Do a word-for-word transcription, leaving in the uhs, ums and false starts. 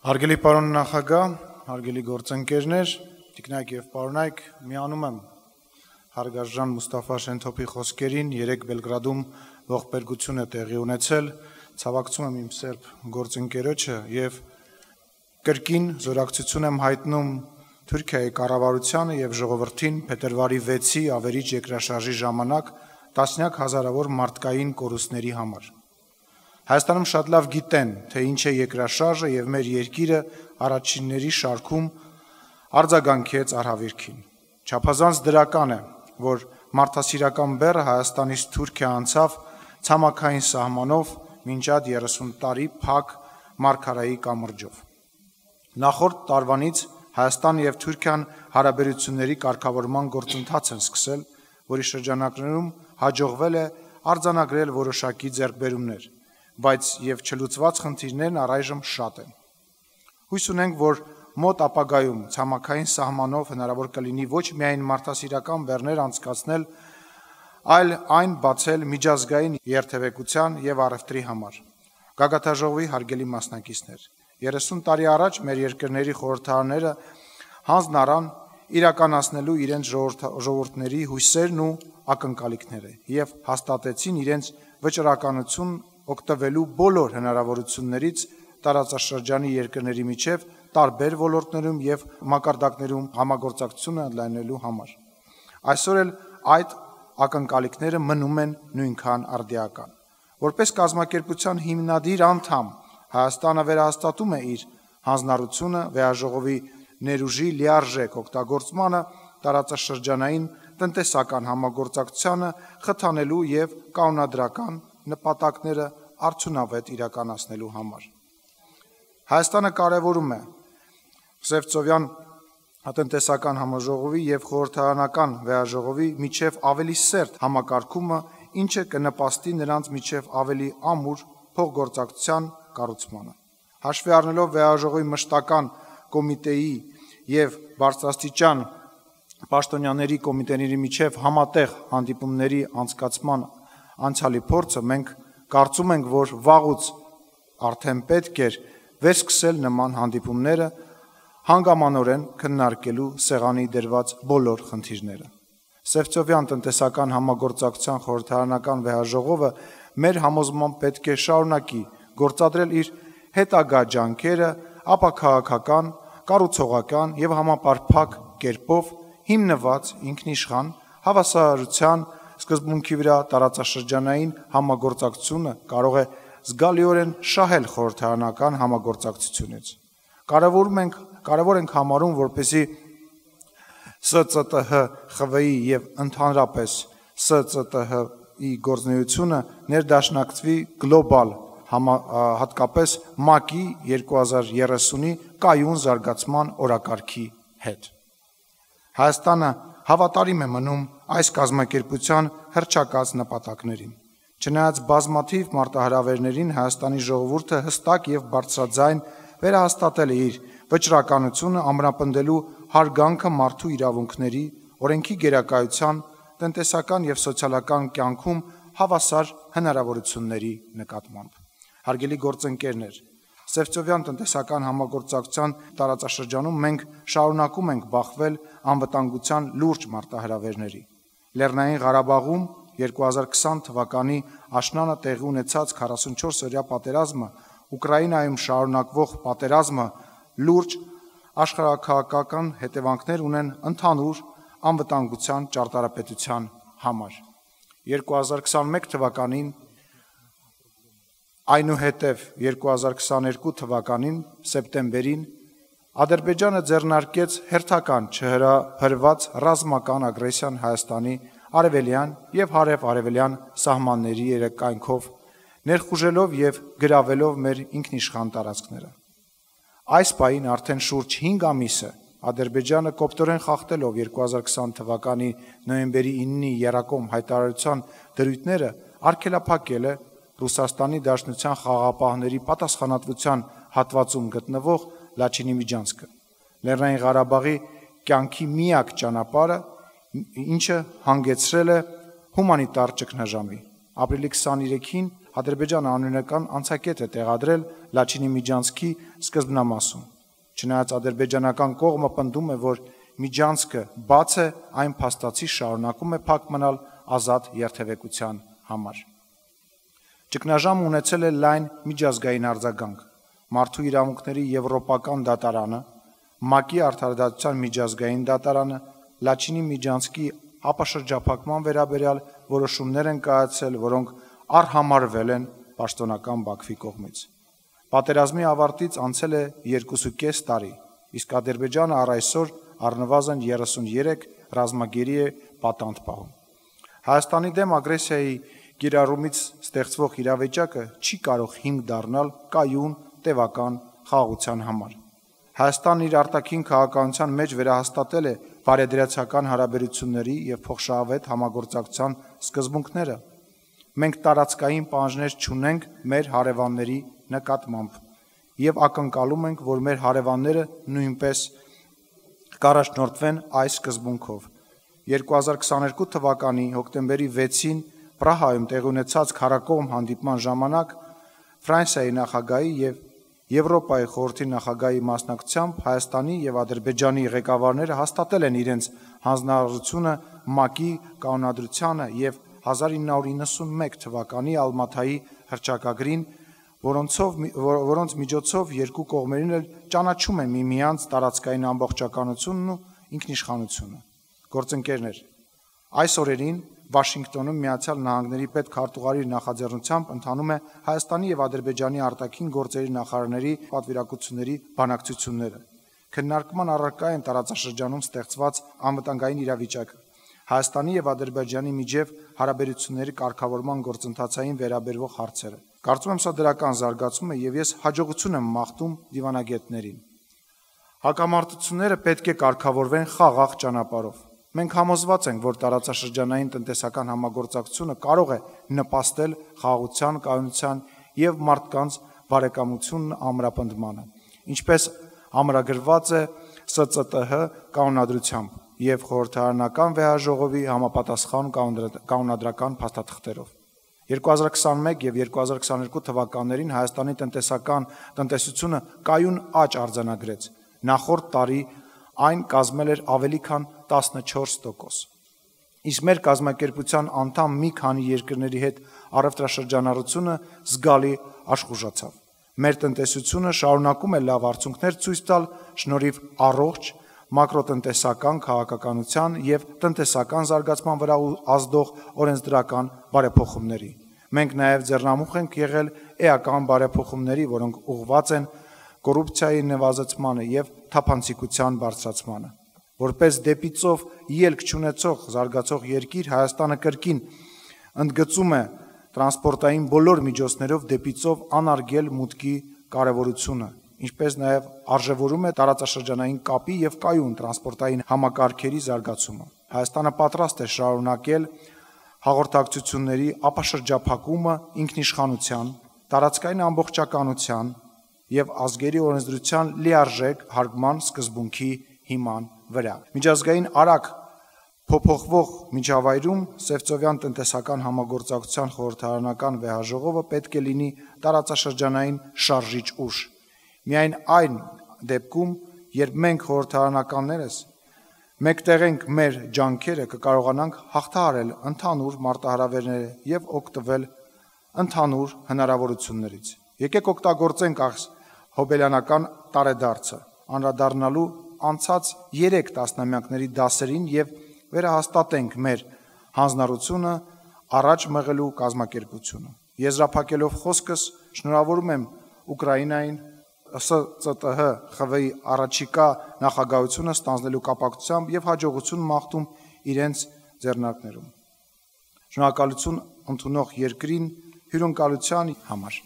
Հարգելի պարոն նախագահ, հարգելի գործընկերներ, տիկնայք եւ պարոնայք, միանում եմ հարգարժան Մուստաֆա Շենթոփի խոսքերին, երեք Բելգրադում ողբերգություն է տեղի ունեցել, ցավակցում եմ իմ սերբ գործընկերոջը եւ կրկին զորակցություն եմ հայտնում Թուրքիայի կառավարությանը եւ ժողովրդին փետրվարի վեցի ավերիչ երկրաշարժի ժամանակ տասնյակ հազարավոր մարդկային կորուստների համար։ Հայաստանում շատ լավ գիտեն, թե ինչ է երկրաշարժը եւ մեր երկիրը առաջինների շարքում արձագանքեց արհավիրքին։ Չափազանց դրական է, որ մարդասիրական բեռը Հայաստանից Թուրքիա անցավ ցամաքային սահմանով մինչ այդ երեսուն տարի փակ մարգարայի կամրջով։ Նախորդ տարվանից Հայաստան եւ Թուրքիան հարաբերությունների կարգավորման գործընթաց են սկսել, որի շրջանակներում հաջողվել է արձանագրել որոշակի ձեռքբերումներ, բայց եւ չլուծված խնդիրներն առայժմ շատ են։ Հույս ունենք, որ մոտ ապագայում ցամաքային սահմանով հնարավոր կլինի ոչ միայն մարդասիրական բեռներ անցկացնել, այլ այն բացել միջազգային երթևեկության եւ առևտրի համար։ Գագաթաժողովի հարգելի մասնակիցներ, երեսուն տարի առաջ մեր երկրների խորհրդարանները հանձն առան իրականացնելու իրենց ժողովուրդների հույսերն ու ակնկալիքները եւ հաստատեցին իրենց վճռականություն օգտվելու բոլոր հնարավորություններից տարածաշրջանի երկրների միջև տարբեր ոլորտներում եւ մակարդակներում համագործակցությունը ընդլայնելու համար։ Այսօր էլ այդ ակնկալիքները մնում են նույնքան արդիական։ Որպես կազմակերպության հիմնադիր անդամ Հայաստանը վերահաստատում է իր հանձնառությունը վեաժողովի ներուժի լիարժեք օգտագործմանը տարածաշրջանային տնտեսական համագործակցությանը խթանելու եւ կանոնադրական նպատակները արդյունավետ իրականացնելու համար։ Հայաստանը կարևորում է Սևծովյան տնտեսական համաժողովի եւ խորհրդարանական վեաժողովի միջև ավելի սերտ համակարգումը, ինչը կնպաստի նրանց միջև ավելի ամուր փոխգործակցության կառուցմանը։ Հաշվի առնելով վեաժողովի մշտական կոմիտեի եւ բարձրաստիճան պաշտոնյաների կոմիտեների միջև համատեղ հանդիպումների անցկացման անցյալի փորձը, մենք կարծում ենք, որ վաղուց արդեն պետք էր վերսկսել նման հանդիպումները հանգամանորեն քննարկելու սեղանի դրված բոլոր խնդիրները։ Սևծովյան տնտեսական համագործակցության խորհրդարանական վեաժողովը մեր համոզմամբ պետք է շարունակի գործադրել իր հետագա ջանքերը ապաքաղաքական, կառուցողական եւ համապարփակ կերպով հիմնված ինքնիշխան հավասարության սկզբունքի վրա տարածաշրջանային համագործակցությունը կարող է զգալիորեն շահել խորհրդարանական համագործակցությունից։ Կարևորում ենք, կարևոր ենք համարում, որպեսզի С Ծ Տ Հ Խ V I եւ ընդհանրապես С Ծ Տ Հ-ի գործունեությունը ներդաշնակցվի գլոբալ հատկապես ՄԱԿ-ի երկու հազար երեսունի կայուն զարգացման օրակարգի հետ։ Հայաստանը հավատարիմ է մնում այս կազմակերպության հռչակած նպատակներին։ Չնայած բազմաթիվ մարտահրավերներին Հայաստանի ժողովուրդը հստակ եւ բարձրաձայն վերահաստատել է իր վճռականությունը ամրապնդելու հարգանքը մարդու իրավունքների, օրենքի գերակայության, տնտեսական եւ սոցիալական կյանքում հավասար հնարավորությունների նկատմամբ։ Հարգելի գործընկերներ, Սևծովյան տնտեսական համագործակցության տարածաշրջանում մենք շարունակում ենք բախվել անվտանգության լուրջ մարտահրավերների։ Լեռնային Ղարաբաղում երկու հազար քսան թվականի աշնանը տեղի ունեցած քառասունչորս-օրյա պատերազմը, Ուկրաինայում շարունակվող պատերազմը լուրջ աշխարհաքաղաքական հետևանքներ ունեն ընդհանուր անվտանգության ճարտարապետության համար։ երկու հազար քսանմեկ թվականին այնուհետև երկու հազար քսաներկու թվականին սեպտեմբերին Ադրբեջանը ձեռնարկեց հերթական չհրահրված ռազմական ագրեսիան Հայաստանի արևելյան եւ հարավ-արևելյան սահմանների երեկայնքով, ներխուժելով եւ գրավելով մեր ինքնիշխան տարածքները։ Այս պահին արդեն շուրջ հինգ ամիս է Ադրբեջանը կոպտորեն խախտելով երկու հազար քսան թվականի նոյեմբերի իննի Երակոմ հայտարարության դրույթները արգելափակել է Ռուսաստանի Դաշնության խաղաղապահների պատասխանատվության հատվածում գտնվող Լաչինի միջանցքը, Լեռնային Ղարաբաղի կյանքի միակ ճանապարհը, ինչը հանգեցրել է հումանիտար ճգնաժամի։ Ապրիլի քսաներեքին Ադրբեջանը անօրինական անցակետ է տեղադրել Լաչինի միջանցքի սկզբնամասում։ Չնայած ադրբեջանական կողմը պնդում է, որ միջանցքը բաց է, այն փաստացի շարունակում է փակ մնալ ազատ երթևեկության համար։ Ճգնաժամը ունեցել է լայն միջազգային արձագանք։ Մարդու իրավունքների եվրոպական դատարանը, ՄԱԿ-ի արդարադատության միջազգային դատարանը Լաչինի միջանցքի ապաշրջափակման վերաբերյալ որոշումներ են կայացրել, որոնք արհամարվել են պաշտոնական Բաքվի կողմից։ Պատերազմի ավարտից անցել է երկուսուկես տարի, իսկ Ադրբեջանը առ այսօր առնվազն երեսունյերեք ռազմագերի է պատանդ պահում։ Հայաստանի դեմ ագրեսիայի կիրառումից ստեղծվող իրավիճակը չի կարող հիմք դառնալ կայուն տևական խաղաղության համար։ Հայաստանն իր արտաքին քաղաքականության մեջ վերահաստատել է բարեդրացական հարաբերությունների և փոխշահավետ համագործակցության սկզբունքները։ Մենք տարածքային պահանջներ չունենք մեր հարևանների նկատմամբ և ակնկալում ենք, որ մեր հարևանները նույնպես կառաջնորդվեն այս սկզբունքով։ երկու հազար քսաներկու թվականի հոկտեմբերի վեցին Պրահայում տեղի ունեցած քառակողմ հանդիպման ժամանակ Ֆրանսիայի նախագահի և Եվրոպայի խորհրդի նախագահի մասնակցությամբ Հայաստանի և Ադրբեջանի ղեկավարները հաստատել են իրենց հանձնարարությունը ՄԱԿ-ի կանոնադրությանը և հազար ինը հարյուր իննսունմեկ թվականի Ալմաթայի հռչակագրին, որոնցով, որոնց միջոցով երկու կողմերն էլ ճանաչում են միմյանց տարածքային ամբողջականությունն ու ինքնիշխանությունը։ Գործընկերներ, այս օրերին Վաշինգտոնում Միացյալ Նահանգների պետքարտուղարի նախաձեռնությամբ ընթանում է Հայաստանի և Ադրբեջանի արտաքին գործերի նախարարների պատվիրակությունների բանակցությունները։ Քննարկման առարկա են տարածաշրջանում ստեղծված անվտանգային իրավիճակը, Հայաստանի և Ադրբեջանի միջև հարաբերությունների կարգավորման գործընթացային վերաբերվող հարցերը։ Կարծում եմ, սա դրական զարգացում է և ես հաջողություն եմ մաղթում դիվանագետներին։ Հակամարտությունները պետք է կարգավորվեն խաղաղ ճանապարհով։ Մենք համոզված ենք, որ տարածաշրջանային տնտեսական համագործակցությունը կարող է նպաստել խաղաղության, կայունության և մարդկանց բարեկամությունն ամրապնդմանը, ինչպես ամրագրված է Ս Ծ Տ Հ կանոնադրությամբ և խորհրդարանական վեհաժողովի համապատասխան կանոնադրական փաստաթղթերով։ երկու հազար քսանմեկ և երկու հազար քսաներկու թվականներին Հայաստանի տնտեսական տնտեսությունը կայուն աճ արձանագրեց, նախորդ տարի այն կազմել էր ավելի քան տասնչորս տոկոս։ Իսկ մեր կազմակերպության անդամ մի քանի երկրների հետ առևտրաշրջանառությունը զգալի աշխուժացավ։ Մեր տնտեսությունը շարունակում է լավ արդյունքներ ցույց տալ շնորհիվ առողջ մակրոտնտեսական քաղաքականության և տնտեսական զարգացման վրա ազդող օրենսդրական բարեփոխումների։ Մենք նաև ձեռնամուխ ենք եղել էական բարեփոխումների, որոնք ուղղված են կոռուպցիայի նվազեցմանը և թափանցիկության բարձրացմանը։ Որպես դեպի ծով ելք չունեցող զարգացող երկիր, Հայաստանը կրկին ընդգծում է տրանսպորտային բոլոր միջոցներով դեպի ծով անարգել մուտքի կարևորությունը, ինչպես նաև արժևորում է տարածաշրջանային կապի և կայուն տրանսպորտային համակարգերի զարգացումը։ Հայաստանը պատրաստ է շարունակել հաղորդակցությունների ապաշրջափակումը ինքնիշխանության, տարածքային ամբողջականության և ազգերի օրենսդրության լիարժեք հարգման սկզբունքի հիման վրա։ Միջազգային արագ փոփոխվող միջավայրում Սևծովյան տնտեսական համագործակցության խորհրդարանական վեհաժողովը պետք է լինի տարածաշրջանային շարժիչ ուժ։ Միայն այն դեպքում, երբ մենք խորհրդարանականներս մեկտեղենք մեր ջանքերը, կկարողանանք հաղթահարել ընդհանուր մարտահրավերները և օգտվել ընդհանուր հնարավորություններից։ Եկեք օգտագործենք այս հոբելյանական տարեդարձը, անդրադառնալու անցած երեք տասնամյակների դասերին և վերահաստատենք մեր հանձնառությունը առաջ մղելու կազմակերպությունը։ Եզրափակելով խոսքս, շնորհավորում եմ Ուկրաինային Ս Ծ Տ Հ Խ V-ի առաջիկա նախագահությունը ստանձնելու կապակցությամբ և հաջողություն մաղթում իրենց ձեռնարկներում։ Շնորհակալություն ընդունող երկրին հյուրընկալության համար։